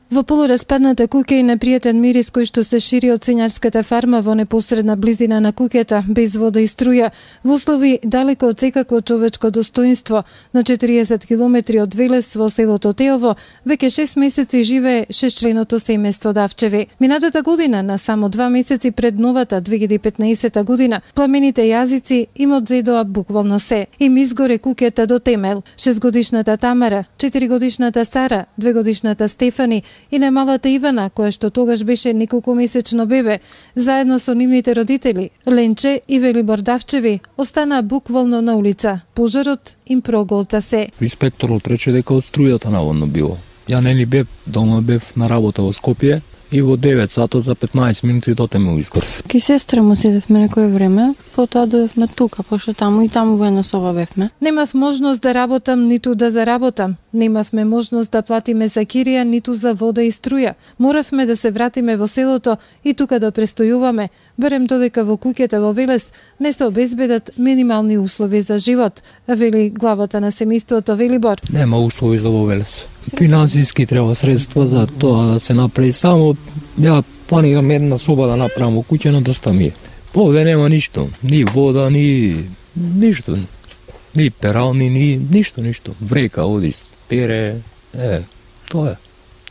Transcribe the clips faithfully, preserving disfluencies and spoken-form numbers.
Во полураспадната куќа и непријатен мирис кој што се шири од сенјарската фарма во непосредна близина на куќата, без вода и струја, во услови далеко од секакво човечко достоинство, на четириесет километри од Велес во селото Теово, веќе шест месеци живее шестчленото семејство Давчеви. Минатата година, на само два месеци пред новата две илјади и петнаесета година, пламените јазици им одзедоа буквално се. Им изгоре куќата до темел. Шестгодишната Тамара, четиригодишната Сара, двегодишната Стефани и немалата Ивана, која што тогаш беше неколкумесечно бебе, заедно со нивните родители, Ленче и Велибор Давчеви, останаа буквално на улица. Пожарот им проголта се. Инспекторот рече дека од струјата наводно било. Ја не ни бев дома, бев на работа во Скопје и во девет сатот за петнаесет минути до тему изгорсе. Ки сестра му седевме некој време, потоа дојдовме тука, пошто таму и таму во една соба бевме. Немав можност да работам, ниту да заработам. Немавме можност да платиме за кирија, ниту за вода и струја. Моравме да се вратиме во селото и тука да престојуваме, барем додека во куќата во Велес не се обезбедат минимални услови за живот, вели главата на семејството Велибор. Нема услови за во Велес. Финансиски треба средства за тоа да се направи. Само ја планирам една соба да направам во куќа, но доста ми е. Овде нема ништо, ни вода, ни ништо. Ни перални, ни ништо, ништо. Врека, одис, пере, е, тоа е.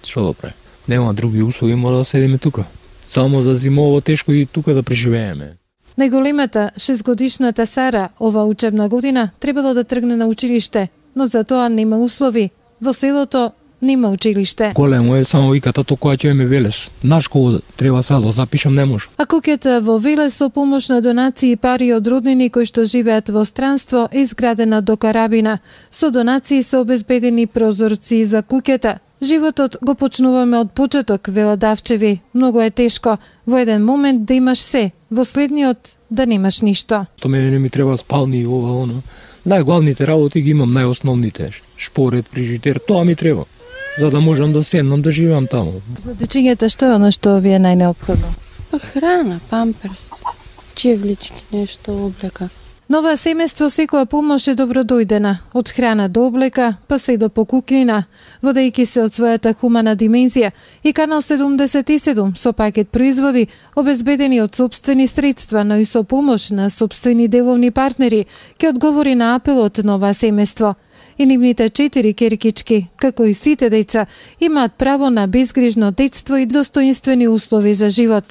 Што да прави? Нема други услови, мора да седиме тука. Само за зимово тешко и тука да преживееме. Најголемата шестгодишната Сара ова учебна година требало да тргне на училиште, но за тоа нема услови. Во селото нема училиште. Големо е, само вика тато која ќе ме Велес. На школа треба сега да запишам, не може. А куќата во Велес со помош на донации и пари од роднини кои што живеат во странство е изградена до карабина. Со донации се обезбедени прозорци за куќата. Животот го почнуваме од почеток, вела Давчеви. Многу е тешко во еден момент да имаш се, во следниот да немаш ништо. То мене не ми треба спални и ова, оно. Најглавните работи ги имам, најосновните. Шпоред, фрижидер, тоа ми треба. За да можам да седнам да живеам таму. За дечињата што е оно што ви е најнеопходно? Па храна, памперс, чевлички, нешто, облека. Нова семејство секоја помош е добродојдена, од храна до облека, па се до покукнина, водејќи се од својата хумана димензија и Канал седумдесет и седум со пакет производи обезбедени од сопствени средства, но и со помош на сопствени деловни партнери, ќе одговори на апелот на ова семејство. И нивните четири керкички, како и сите деца, имаат право на безгрижно детство и достоинствени услови за живот.